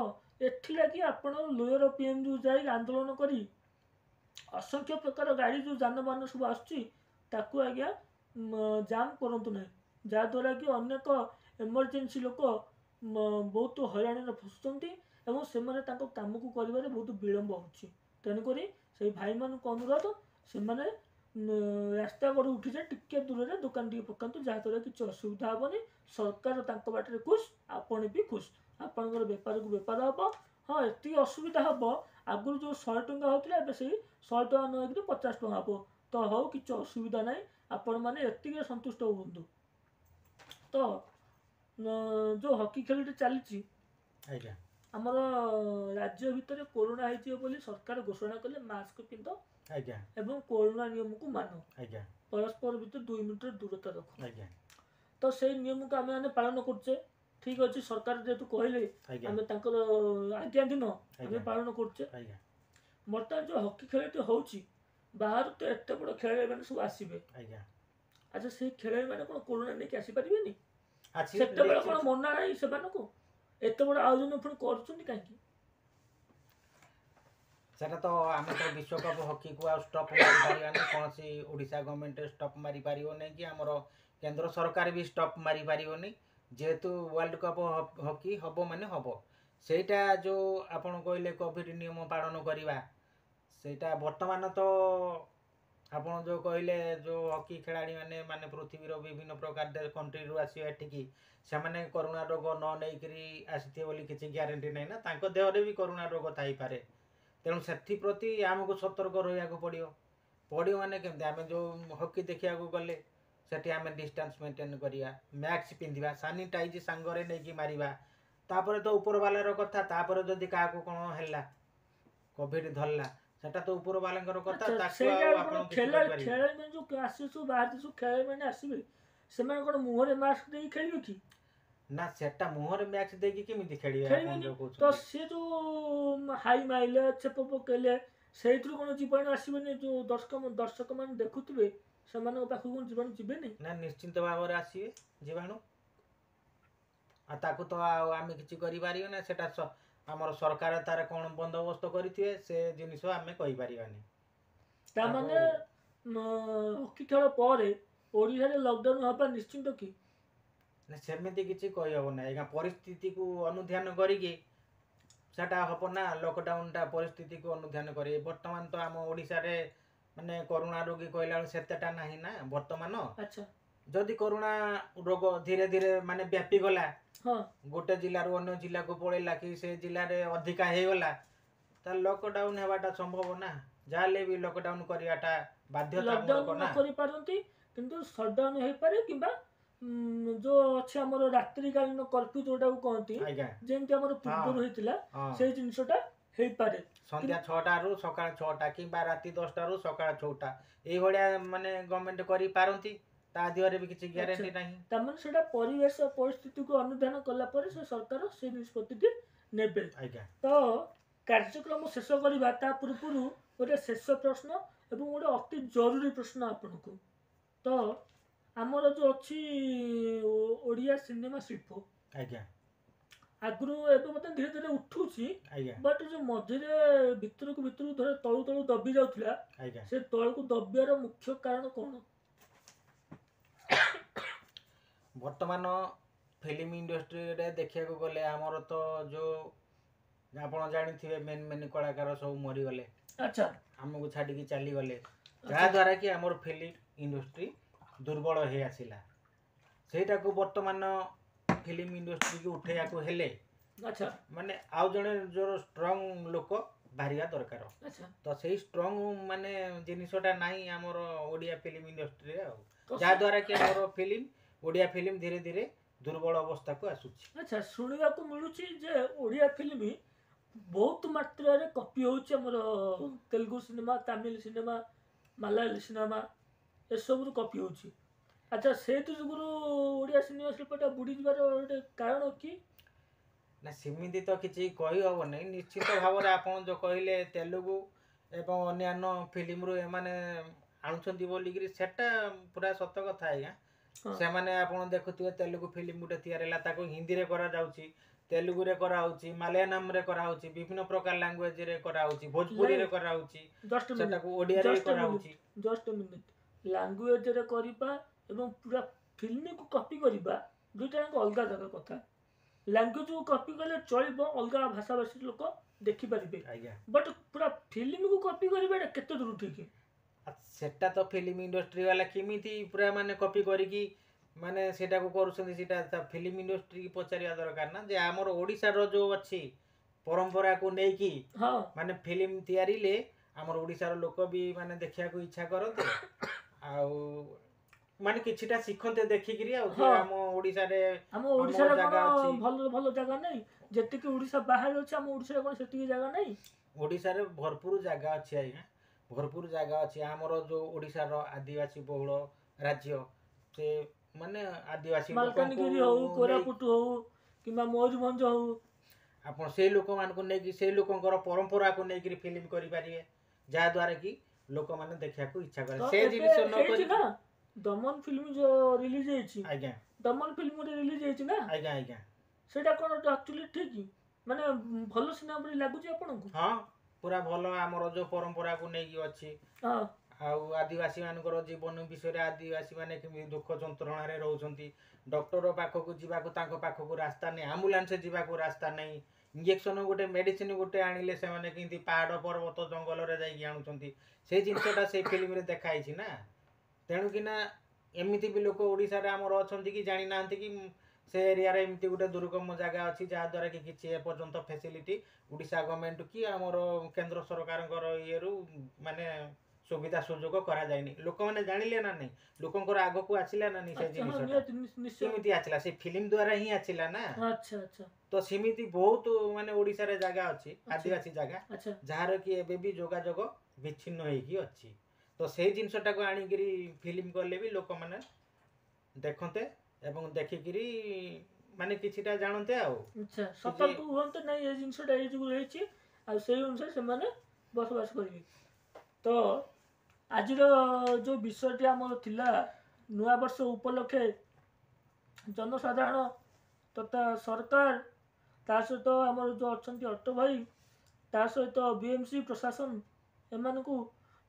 A: ଏଥିଲାଗି ଆପଣ ଲୋୟର ପିଏମ୍ଜିକୁ ଯାଇ ଆନ୍ଦୋଳନ କରି ଅସଂଖ୍ୟ ପ୍ରକାର ଗାଡ଼ି ଯେଉଁ ଯାନବାହନ ସବୁ ଆସୁଛି ତାକୁ ଆଜ୍ଞା ଜାମ୍ କରନ୍ତୁ ନାହିଁ, ଯାହାଦ୍ୱାରା କି ଅନେକ ଏମର୍ଜେନ୍ସି ଲୋକ ବହୁତ ହଇରାଣରେ ଫସୁଛନ୍ତି ଏବଂ ସେମାନେ ତାଙ୍କ କାମକୁ କରିବାରେ ବହୁତ ବିଳମ୍ବ ହେଉଛି। ତେଣୁକରି ସେଇ ଭାଇମାନଙ୍କୁ ଅନୁରୋଧ, ସେମାନେ ରାସ୍ତା କଡ଼ରୁ ଉଠିଯାଇ ଟିକେ ଦୂରରେ ଦୋକାନ ଟିକେ ପକାନ୍ତୁ, ଯାହାଦ୍ୱାରା କିଛି ଅସୁବିଧା ହେବନି। ସରକାର ତାଙ୍କ ବାଟରେ ଖୁସ୍, ଆପଣ ବି ଖୁସ୍, ଆପଣଙ୍କର ବେପାରକୁ ବେପାର ହେବ। ହଁ, ଏତିକି ଅସୁବିଧା ହେବ, ଆଗରୁ ଯେଉଁ ଶହେ ଟଙ୍କା ହେଉଥିଲା ଏବେ ସେଇ ଶହେ ଟଙ୍କା ନ ହେଇକିରି ପଚାଶ ଟଙ୍କା ହେବ। ତ ହଉ, କିଛି ଅସୁବିଧା ନାହିଁ, ଆପଣମାନେ ଏତିକିରେ ସନ୍ତୁଷ୍ଟ ହୁଅନ୍ତୁ। ତ ଯେଉଁ ହକି ଖେଳଟି ଚାଲିଛି
B: ଆଜ୍ଞା,
A: ଆମର ରାଜ୍ୟ ଭିତରେ କରୋନା ହେଇଯିବ ବୋଲି ସରକାର ଘୋଷଣା କଲେ ମାସ୍କ ପିନ୍ଧ
B: ଆଜ୍ଞା
A: ଏବଂ କରୋନା ନିୟମକୁ ମାନ
B: ଆଜ୍ଞା,
A: ପରସ୍ପର ଭିତରେ ଦୁଇ ମିଟର ଦୂରତା ରଖ
B: ଆଜ୍ଞା।
A: ତ ସେଇ ନିୟମକୁ ଆମେ ମାନେ ପାଳନ କରୁଛେ, ଠିକ ଅଛି। ସରକାର ଯେହେତୁ କହିଲେ ଆମେ ତାଙ୍କର ଆଜ୍ଞାଧୀନ ଆମେ ପାଳନ କରୁଛେ। ବର୍ତ୍ତମାନ ଯେଉଁ ହକି ଖେଳଟି ହେଉଛି, ବାହାରୁ ତ ଏତେ ବଡ଼ ଖେଳାଳିମାନେ ସବୁ ଆସିବେ
B: ଆଜ୍ଞା।
A: ଆଚ୍ଛା, ସେଇ ଖେଳାଳିମାନେ କ'ଣ କରୋନା ନେଇକି ଆସିପାରିବେନି? ସେତେବେଳେ କ'ଣ ମନା ନାହିଁ ସେମାନଙ୍କୁ? ଏତେ ବଡ଼ ଆୟୋଜନ ପୁଣି କରୁଛନ୍ତି କାହିଁକି?
B: ସେଟା ତ ଆମେ ତ ବିଶ୍ୱକପ୍ ହକିକୁ ଆଉ ଷ୍ଟପ୍ ମାରିପାରିବାନି, କୌଣସି ଓଡ଼ିଶା ଗଭର୍ଣ୍ଣମେଣ୍ଟ ଷ୍ଟପ୍ ମାରିପାରିବ ନାହିଁ କି ଆମର କେନ୍ଦ୍ର ସରକାର ବି ଷ୍ଟପ୍ ମାରିପାରିବନି। ଯେହେତୁ ୱାର୍ଲଡ କପ୍ ହକି ହେବ ମାନେ ହେବ। ସେଇଟା ଯେଉଁ ଆପଣ କହିଲେ କୋଭିଡ଼ ନିୟମ ପାଳନ କରିବା, ସେଇଟା ବର୍ତ୍ତମାନ ତ ଆପଣ ଯେଉଁ କହିଲେ ଯେଉଁ ହକି ଖେଳାଳିମାନେ ମାନେ ପୃଥିବୀର ବିଭିନ୍ନ ପ୍ରକାର କଣ୍ଟ୍ରିରୁ ଆସିବେ ଏଠିକି, ସେମାନେ କରୋନା ରୋଗ ନ ନେଇକରି ଆସିଥିବେ ବୋଲି କିଛି ଗ୍ୟାରେଣ୍ଟି ନାହିଁ ନା, ତାଙ୍କ ଦେହରେ ବି କରୋନା ରୋଗ ଥାଇପାରେ। ତେଣୁ ସେଥିପ୍ରତି ଆମକୁ ସତର୍କ ରହିବାକୁ ପଡ଼ିବ। ପଡ଼ିବ ମାନେ କେମିତି? ଆମେ ଯେଉଁ ହକି ଦେଖିବାକୁ ଗଲେ ସେଠି ଆମେ ଡିଷ୍ଟାନ୍ସ ମେଣ୍ଟେନ୍ କରିବା, ମାସ୍କ ପିନ୍ଧିବା, ସାନିଟାଇଜ୍ ସାଙ୍ଗରେ ନେଇକି ମାରିବା। ତାପରେ ତ ଉପରବାଲାର କଥା, ତାପରେ ଯଦି କାହାକୁ କ'ଣ ହେଲା କୋଭିଡ଼ ଧରିଲା, ସେଟା ତ ଉପରବାଲାଙ୍କର କଥା। ତାକୁ ଆଉ ଆପଣ
A: ଖେଳାଳି ଖେଳାଳିମାନେ ଯେଉଁ ଆସିବେ ସବୁ ବାହାର ସବୁ ଖେଳାଳିମାନେ ଆସିବେ, ସେମାନେ କ'ଣ ମୁହଁରେ ମାସ୍କ ଦେଇକି ଖେଳିବେ କି?
B: ନା, ସେଟା ମୁହଁରେ ମାସ୍କ ଦେଇକି କେମିତି ଖେଳିବେ?
A: ତ ସେ ଯୋଉ ହାଇ ମାଇଲେ, ଛେପ ପକେଇଲେ, ସେଇଥିରୁ କ'ଣ ଜୀବାଣୁ ଆସିବନି? ଯୋଉ ଦର୍ଶକ ଦର୍ଶକମାନେ ଦେଖୁଥିବେ ସେମାନଙ୍କ ପାଖକୁ କ'ଣ ଜୀବାଣୁ ଯିବେନି?
B: ନା, ନିଶ୍ଚିନ୍ତ ଭାବରେ ଆସିବେ ଜୀବାଣୁ। ଆଉ ତାକୁ ତ ଆଉ ଆମେ କିଛି କରିପାରିବା ନା, ସେଟା ଆମର ସରକାର ତାର କ'ଣ ବନ୍ଦୋବସ୍ତ କରିଥିବେ ସେ ଜିନିଷ ଆମେ କହିପାରିବାନି।
A: ତାମାନେ ହକି ଖେଳ ପରେ ଓଡ଼ିଶାରେ ଲକଡାଉନ ହେବା ନିଶ୍ଚିନ୍ତ କି?
B: ନା, ସେମିତି କିଛି କହିହେବ ନାହିଁ ଆଜ୍ଞା। ପରିସ୍ଥିତିକୁ ଅନୁଧ୍ୟାନ କରିକି ସେଟା ହେବ ନା, ଲକଡାଉନଟା ପରିସ୍ଥିତିକୁ ଅନୁଧ୍ୟାନ କରି। ବର୍ତ୍ତମାନ ତ ଆମ ଓଡ଼ିଶାରେ ମାନେ କରୋନା ରୋଗୀ କହିଲା ବେଳକୁ ସେତେଟା ନାହିଁ ନା ବର୍ତ୍ତମାନ।
A: ଆଚ୍ଛା,
B: ଯଦି କରୋନା ରୋଗ ଧୀରେ ଧୀରେ ମାନେ ବ୍ୟାପିଗଲା, ଗୋଟେ ଜିଲ୍ଲାରୁ ଅନ୍ୟ ଜିଲ୍ଲାକୁ ପଳେଇଲା କି ସେ ଜିଲ୍ଲାରେ ଅଧିକା ହେଇଗଲା, ତାହେଲେ ଲକଡାଉନ ହେବାଟା ସମ୍ଭବ ନା। ଯାହାହେଲେ ବି ଲକଡାଉନ କରିବାଟା ବାଧ୍ୟତାମୂଳକ
A: ନା। କରିପାରନ୍ତି, କିନ୍ତୁ ସଟଡାଉନ ହେଇପାରେ କିମ୍ବା ଯୋଉ ଅଛି ଆମର ରାତ୍ରିକାଳୀନ କର୍ଫ୍ୟୁ ଯୋଉଟାକୁ କହନ୍ତି, ଯେମିତି ଆମର ପୂର୍ବରୁ ହେଇଥିଲା, ସେଇ ଜିନିଷଟା ହେଇପାରେ।
B: ସନ୍ଧ୍ୟା ଛଅଟାରୁ ସକାଳ ଛଅଟା କିମ୍ବା ରାତି ଦଶଟାରୁ ସକାଳ ଛଅଟା, ଏଇଭଳିଆ ମାନେ ଗଭର୍ଣ୍ଣମେଣ୍ଟ କରିପାରନ୍ତି। ତା ଦେହରେ ବି କିଛି ଗ୍ୟାରେଣ୍ଟି ନାହିଁ।
A: ତାମାନେ ସେଇଟା ପରିବେଶ ପରିସ୍ଥିତିକୁ ଅନୁଧ୍ୟାନ କଲା ପରେ ସେ ସରକାର ସେ ନିଷ୍ପତ୍ତିଟି ନେବେ।
B: ଆଜ୍ଞା।
A: ତ କାର୍ଯ୍ୟକ୍ରମ ଶେଷ କରିବା ତା ପୂର୍ବରୁ ଗୋଟେ ଶେଷ ପ୍ରଶ୍ନ ଏବଂ ଗୋଟେ ଅତି ଜରୁରୀ ପ୍ରଶ୍ନ ଆପଣଙ୍କୁ। ତ ଆମର ଯେଉଁ ଅଛି ଓଡ଼ିଆ ସିନେମା ଶିଳ୍ପ,
B: ଆଜ୍ଞା,
A: ଆଗରୁ ଏବେ ମଧ୍ୟ ଧୀରେ ଧୀରେ ଉଠୁଛି,
B: ଆଜ୍ଞା,
A: ବଟ୍ ଯେଉଁ ମଝିରେ ଭିତରକୁ ଭିତରକୁ ଧର ତଳୁ ତଳୁ ଦବି ଯାଉଥିଲା,
B: ଆଜ୍ଞା,
A: ସେ ତଳକୁ ଦବିବାର ମୁଖ୍ୟ କାରଣ କ'ଣ?
B: ବର୍ତ୍ତମାନ ଫିଲ୍ମ ଇଣ୍ଡଷ୍ଟ୍ରିରେ ଦେଖିବାକୁ ଗଲେ ଆମର ତ ଯେଉଁ ଆପଣ ଜାଣିଥିବେ ମେନ୍ ମେନ୍ କଳାକାର ସବୁ ମରିଗଲେ,
A: ଆଚ୍ଛା,
B: ଆମକୁ ଛାଡ଼ିକି ଚାଲିଗଲେ, ଯାହାଦ୍ୱାରା କି ଆମର ଫିଲ୍ମ ଇଣ୍ଡଷ୍ଟ୍ରି ଦୁର୍ବଳ ହେଇ ଆସିଲା। ସେଇଟାକୁ ବର୍ତ୍ତମାନ ଫିଲ୍ମ ଇଣ୍ଡଷ୍ଟ୍ରିକୁ ଉଠେଇବାକୁ ହେଲେ,
A: ଆଚ୍ଛା,
B: ମାନେ ଆଉ ଜଣେ ଯୋଉ ଷ୍ଟ୍ରଙ୍ଗ ଲୋକ ବାହାରିବା ଦରକାର।
A: ଆଚ୍ଛା,
B: ତ ସେଇ ଷ୍ଟ୍ରଙ୍ଗ ମାନେ ଜିନିଷଟା ନାହିଁ ଆମର ଓଡ଼ିଆ ଫିଲ୍ମ ଇଣ୍ଡଷ୍ଟ୍ରିରେ, ଆଉ
A: ତ
B: ଯାହାଦ୍ୱାରା କି ଆମର ଫିଲ୍ମ ଓଡ଼ିଆ ଫିଲ୍ମ ଧୀରେ ଧୀରେ ଦୁର୍ବଳ ଅବସ୍ଥାକୁ ଆସୁଛି।
A: ଆଚ୍ଛା, ଶୁଣିବାକୁ ମିଳୁଛି ଯେ ଓଡ଼ିଆ ଫିଲ୍ମ ବହୁତ ମାତ୍ରାରେ କପି ହେଉଛି ଆମର Telugu cinema, Tamil cinema, Malayali cinema, ଏସବୁରୁ କପି ହେଉଛି। ଆଚ୍ଛା, ସେଇଥି ଯୋଗୁରୁ ଓଡ଼ିଆ ସିନେମା ଶିଳ୍ପଟା ବୁଡ଼ିଯିବାର ଗୋଟେ କାରଣ କି?
B: ନା, ସେମିତି ତ କିଛି କହିହେବ ନାହିଁ। ନିଶ୍ଚିତ ଭାବରେ ଆପଣ ଯେଉଁ କହିଲେ ତେଲୁଗୁ ଏବଂ ଅନ୍ୟାନ୍ୟ ଫିଲ୍ମରୁ ଏମାନେ ଆଣୁଛନ୍ତି ବୋଲିକିରି, ସେଟା ପୁରା ସତ କଥା ଆଜ୍ଞା।
A: ହଁ।
B: ସେମାନେ ଆପଣ ଦେଖୁଥିବେ ତେଲୁଗୁ ଫିଲ୍ମ ଗୋଟେ ତିଆରି ହେଲା, ତାକୁ ହିନ୍ଦୀରେ କରାଯାଉଛି, ତେଲୁଗୁରେ କରାହେଉଛି, ମାଲୟାଲମରେ କରାହେଉଛି, ବିଭିନ୍ନ ପ୍ରକାର ଲାଙ୍ଗୁଏଜରେ କରାହେଉଛି, ଭୋଜପୁରୀରେ କରାହେଉଛି,
A: ଜଷ୍ଟ ମିନିଟ୍,
B: ସେଟାକୁ ଓଡ଼ିଆରେ ବି
A: ଜଷ୍ଟ
B: କରାହେଉଛି।
A: ଜଷ୍ଟ ମିନିଟ୍, ଲାଙ୍ଗୁଏଜରେ କରିବା ଏବଂ ପୁରା ଫିଲ୍ମକୁ କପି କରିବା ଦୁଇଟା ଯାକ ଅଲଗା ଅଲଗା କଥା। ଲାଙ୍ଗୁଏଜକୁ କପି କଲେ ଚଳିବ, ଅଲଗା ଭାଷାଭାଷୀ ଲୋକ ଦେଖିପାରିବେ,
B: ଆଜ୍ଞା,
A: ବଟ୍ ପୁରା ଫିଲ୍ମକୁ କପି କରିବା ଏଇଟା କେତେ ଦୂର ଠିକ୍?
B: ଆଉ ସେଟା ତ ଫିଲ୍ମ ଇଣ୍ଡଷ୍ଟ୍ରି ବାଲା କେମିତି ପୁରା ମାନେ କପି କରିକି ମାନେ ସେଇଟାକୁ କରୁଛନ୍ତି, ସେଇଟା ତା ଫିଲ୍ମ ଇଣ୍ଡଷ୍ଟ୍ରି ପଚାରିବା ଦରକାର ନା, ଯେ ଆମର ଓଡ଼ିଶାର ଯେଉଁ ଅଛି ପରମ୍ପରାକୁ ନେଇକି
A: ହଁ,
B: ମାନେ ଫିଲ୍ମ ତିଆରିଲେ ଆମର ଓଡ଼ିଶାର ଲୋକ ବି ମାନେ ଦେଖିବାକୁ ଇଚ୍ଛା କରନ୍ତି, ଆଉ ମାନେ କିଛିଟା ଶିଖନ୍ତେ ଦେଖିକିରି। ଆଉ ଯେ
A: ହଁ।
B: ଆମ ଓଡ଼ିଶାରେ
A: ଆମ ଓଡ଼ିଶାରେ
B: ଜାଗା
A: କ'ଣ
B: ଅଛି।
A: ଭଲ ଭଲ ଜାଗା ନାହିଁ? ଯେତିକି ଓଡ଼ିଶା ବାହାରେ ଅଛି, ଆମ ଓଡ଼ିଶାରେ କ'ଣ ସେତିକି ଜାଗା ନାହିଁ?
B: ଓଡ଼ିଶାରେ ଭରପୁର ଜାଗା ଅଛି ଆଜ୍ଞା, ଭରପୁର ଜାଗା ଅଛି। ଆମର ଯେଉଁ ଓଡ଼ିଶାର ଆଦିବାସୀ ବହୁଳ ରାଜ୍ୟ, ସେ ମାନେ ଆଦିବାସୀ
A: ମାଲକାନଗିରି
B: ଲୋକଙ୍କୁ
A: ହଉ,
B: ନେଇ
A: କୋରାପୁଟ ହଉ କିମ୍ବା ମୟୂରଭଞ୍ଜ ହଉ,
B: ଆପଣ ସେଇ ଲୋକମାନଙ୍କୁ ନେଇକି ସେଇ ଲୋକଙ୍କର ପରମ୍ପରାକୁ ନେଇକିରି ଫିଲ୍ମ କରିପାରିବେ, ଯାହାଦ୍ୱାରା କି ଲୋକମାନେ ଦେଖିବାକୁ ଇଚ୍ଛା
A: ତ
B: କରିବେ। ସେ
A: ଏବେ
B: ଜିନିଷ ନ
A: ହେଇଛି
B: କରି
A: ନା, ଦମନ ଫିଲ୍ମ ଯୋଉ ରିଲିଜ ହେଇଛି,
B: ଆଜ୍ଞା,
A: ଦମନ ଫିଲ୍ମ ଗୋଟେ ରିଲିଜ ହେଇଛି ନା?
B: ଆଜ୍ଞା, ଆଜ୍ଞା।
A: ସେଇଟା କ'ଣ ଆକ୍ଚୁଆଲି ଠିକ୍, ମାନେ ଭଲ ସିନେମା ପରି ଲାଗୁଛି ଆପଣଙ୍କୁ?
B: ହଁ, ପୁରା ଭଲ, ଆମର ଯେଉଁ ପରମ୍ପରାକୁ ନେଇକି ଅଛି।
A: ହଁ,
B: ଆଉ ଆଦିବାସୀ ମାନଙ୍କର ଜୀବନ ବିଷୟରେ, ଆଦିବାସୀ ମାନେ କେମିତି ଦୁଃଖ ଯନ୍ତ୍ରଣାରେ ରହୁଛନ୍ତି, ଡକ୍ଟର ପାଖକୁ ଯିବାକୁ ତାଙ୍କ ପାଖକୁ ରାସ୍ତା ନାହିଁ, ଆମ୍ବୁଲାନ୍ସ ଯିବାକୁ ରାସ୍ତା ନାହିଁ, ଇଞ୍ଜେକ୍ସନ ଗୋଟେ ମେଡ଼ିସିନ ଗୋଟେ ଆଣିଲେ ସେମାନେ କେମିତି ପାହାଡ଼ ପର୍ବତ ଜଙ୍ଗଲରେ ଯାଇକି ଆଣୁଛନ୍ତି, ସେଇ ଜିନିଷଟା ସେଇ ଫିଲ୍ମରେ ଦେଖା ହେଇଛି ନା। ତେଣୁକିନା ଏମିତି ବି ଲୋକ ଓଡ଼ିଶାରେ ଆମର ଅଛନ୍ତି କି ଜାଣିନାହାନ୍ତି କି ସେ ଏରିଆରେ ଏମିତି ଗୋଟେ ଦୁର୍ଗମ ଜାଗା ଅଛି, ଯାହାଦ୍ୱାରା କି କିଛି ଏପର୍ଯ୍ୟନ୍ତ ଫେସିଲିଟି ଓଡ଼ିଶା ଗଭର୍ଣ୍ଣମେଣ୍ଟ କି ଆମର କେନ୍ଦ୍ର ସରକାରଙ୍କର ଇଏରୁ ମାନେ ସୁବିଧା ସୁଯୋଗ କରାଯାଇନି। ଲୋକମାନେ ଜାଣିଲେ ନା ନାହିଁ? ଲୋକଙ୍କର ଆଗକୁ ଆସିଲା ନା ନାହିଁ ସେ
A: ଆଚ୍ଛା, ହଁ,
B: ଜିନିଷଟା?
A: ନିହାତି, ନିଶ୍ଚୟ।
B: କେମିତି ଆସିଲା? ସେ ଫିଲ୍ମ ଦ୍ୱାରା ହିଁ ଆସିଲା ନା।
A: ଆଚ୍ଛା, ଆଚ୍ଛା।
B: ତ ସେମିତି ବହୁତ ମାନେ ଓଡ଼ିଶାରେ ଜାଗା ଅଛି, ଆଦିବାସୀ ଜାଗା,
A: ଆଚ୍ଛା,
B: ଯାହାର କି ଏବେ ବି ଯୋଗାଯୋଗ ବିଚ୍ଛିନ୍ନ ହେଇକି ଅଛି। ତ ସେଇ ଜିନିଷଟାକୁ ଆଣିକିରି ଫିଲ୍ମ କଲେ ବି ଲୋକମାନେ ଦେଖନ୍ତେ ଏବଂ ଦେଖିକିରି ମାନେ କିଛିଟା ଜାଣନ୍ତେ ଆଉ
A: ଆଚ୍ଛା, ସତର୍କ ହୁଅନ୍ତେ, ନାଇଁ ଏ ଜିନିଷଟା ଏଇ ଯୋଗୁଁ ହେଇଛି, ଆଉ ସେଇ ଅନୁସାରେ ସେମାନେ ବସବାସ କରିବେ। ତ ଆଜିର ଯେଉଁ ବିଷୟଟି ଆମର ଥିଲା, ନୂଆବର୍ଷ ଉପଲକ୍ଷେ ଜନସାଧାରଣ ତଥା ସରକାର, ତା ସହିତ ଆମର ଯେଉଁ ଅଛନ୍ତି ଅଟୋ ଭାଇ, ତା ସହିତ ବି ଏମ୍ ସି ପ୍ରଶାସନ, ଏମାନଙ୍କୁ,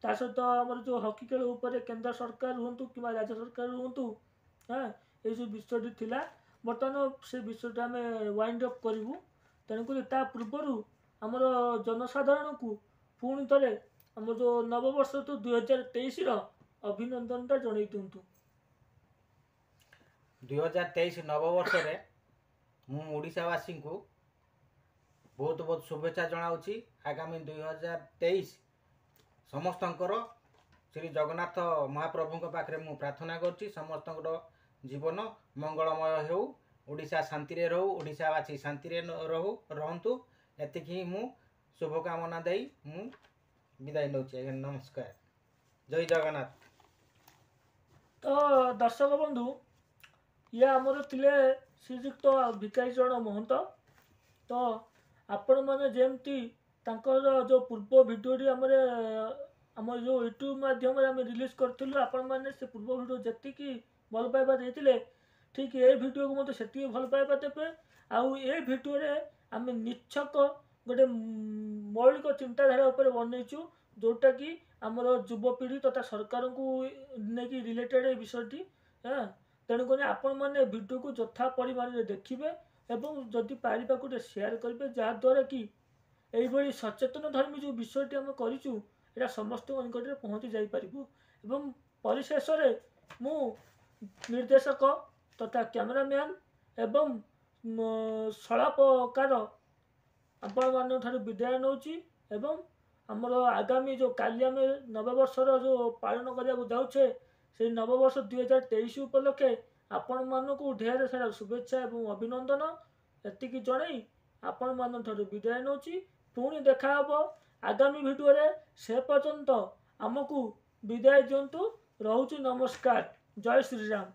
A: ତା ସହିତ ଆମର ଯେଉଁ ହକି ଖେଳ ଉପରେ କେନ୍ଦ୍ର ସରକାର ହୁଅନ୍ତୁ କିମ୍ବା ରାଜ୍ୟ ସରକାର ହୁଅନ୍ତୁ, ହଁ, ଏଇ ଯେଉଁ ବିଷୟଟି ଥିଲା, ବର୍ତ୍ତମାନ ସେ ବିଷୟଟା ଆମେ ୱାଇଣ୍ଡ ଅପ୍ କରିବୁ। ତେଣୁକରି ତା ପୂର୍ବରୁ ଆମର ଜନସାଧାରଣଙ୍କୁ ପୁଣି ଥରେ ଆମର ଯେଉଁ ନବବର୍ଷ ତ ଦୁଇ ହଜାର ତେଇଶର ଅଭିନନ୍ଦନଟା ଜଣେଇ ଦିଅନ୍ତୁ।
B: ଦୁଇ ହଜାର ତେଇଶ ନବବର୍ଷରେ ମୁଁ ଓଡ଼ିଶାବାସୀଙ୍କୁ ବହୁତ ବହୁତ ଶୁଭେଚ୍ଛା ଜଣାଉଛି। ଆଗାମୀ ଦୁଇ ହଜାର ତେଇଶ ସମସ୍ତଙ୍କର ଶ୍ରୀ ଜଗନ୍ନାଥ ମହାପ୍ରଭୁଙ୍କ ପାଖରେ ମୁଁ ପ୍ରାର୍ଥନା କରୁଛି, ସମସ୍ତଙ୍କର ଜୀବନ ମଙ୍ଗଳମୟ ହେଉ, ଓଡ଼ିଶା ଶାନ୍ତିରେ ରହୁ, ଓଡ଼ିଶାବାସୀ ଶାନ୍ତିରେ ରହୁ, ରହନ୍ତୁ। ଏତିକି ହିଁ ମୁଁ ଶୁଭକାମନା ଦେଇ ମୁଁ ବିଦାୟ ନେଉଛି ଆଜ୍ଞା। ନମସ୍କାର, ଜୟ ଜଗନ୍ନାଥ।
A: ତ ଦର୍ଶକ ବନ୍ଧୁ, ଇଏ ଆମର ଥିଲେ ଶ୍ରୀଯୁକ୍ତ ଭିକାରୀ ଚରଣ ମହନ୍ତ। ତ ଆପଣମାନେ ଯେମିତି ତାଙ୍କର ଯେଉଁ ପୂର୍ବ ଭିଡ଼ିଓଟି ଆମର ଆମର ଯେଉଁ ୟୁଟ୍ୟୁବ୍ ମାଧ୍ୟମରେ ଆମେ ରିଲିଜ୍ କରିଥିଲୁ, ଆପଣମାନେ ସେ ପୂର୍ବ ଭିଡ଼ିଓ ଯେତିକି ଭଲ ପାଇବା ଦେଇଥିଲେ, ଠିକ୍ ଏ ଭିଡ଼ିଓକୁ ମଧ୍ୟ ସେତିକି ଭଲ ପାଇବା ଦେବେ। ଆଉ ଏ ଭିଡ଼ିଓରେ ଆମେ ନିଚ୍ଛକ ଗୋଟେ ମୌଳିକ ଚିନ୍ତାଧାରା ଉପରେ ବନେଇଛୁ, ଯେଉଁଟାକି ଆମର ଯୁବପିଢ଼ି ତଥା ସରକାରଙ୍କୁ ନେଇକି ରିଲେଟେଡ଼ ଏ ବିଷୟଟି। ହଁ, ତେଣୁକରି ଆପଣମାନେ ଭିଡ଼ିଓକୁ ଯଥା ପରିମାଣରେ ଦେଖିବେ ଏବଂ ଯଦି ପାରିବାକୁ ଟିକେ ସେୟାର କରିବେ, ଯାହାଦ୍ୱାରା କି ଏଇଭଳି ସଚେତନ ଧର୍ମୀ ଯେଉଁ ବିଷୟଟି ଆମେ କରିଛୁ ଏଇଟା ସମସ୍ତଙ୍କ ନିକଟରେ ପହଞ୍ଚି ଯାଇପାରିବ। ଏବଂ ପରିଶେଷରେ ମୁଁ ନିର୍ଦ୍ଦେଶକ ତଥା କ୍ୟାମେରାମ୍ୟାନ୍ ଏବଂ ସଂଳାପକାର ଆପଣମାନଙ୍କ ଠାରୁ ବିଦାୟ ନେଉଛି। ଏବଂ ଆମର ଆଗାମୀ ଯେଉଁ କାଲି ଆମେ ନବବର୍ଷର ଯେଉଁ ପାଳନ କରିବାକୁ ଯାଉଛେ, ସେଇ ନବବର୍ଷ ଦୁଇ ହଜାର ତେଇଶ ଉପଲକ୍ଷେ ଆପଣମାନଙ୍କୁ ଢେର ସାରା ଶୁଭେଚ୍ଛା ଏବଂ ଅଭିନନ୍ଦନ। ଏତିକି ଜଣାଇ ଆପଣମାନଙ୍କ ଠାରୁ ବିଦାୟ ନେଉଛି। ପୁଣି ଦେଖାହେବ ଆଗାମୀ ଭିଡ଼ିଓରେ, ସେ ପର୍ଯ୍ୟନ୍ତ ଆମକୁ ବିଦାୟ ଦିଅନ୍ତୁ। ରହୁଛି, ନମସ୍କାର, ଜୟ ଶ୍ରୀରାମ।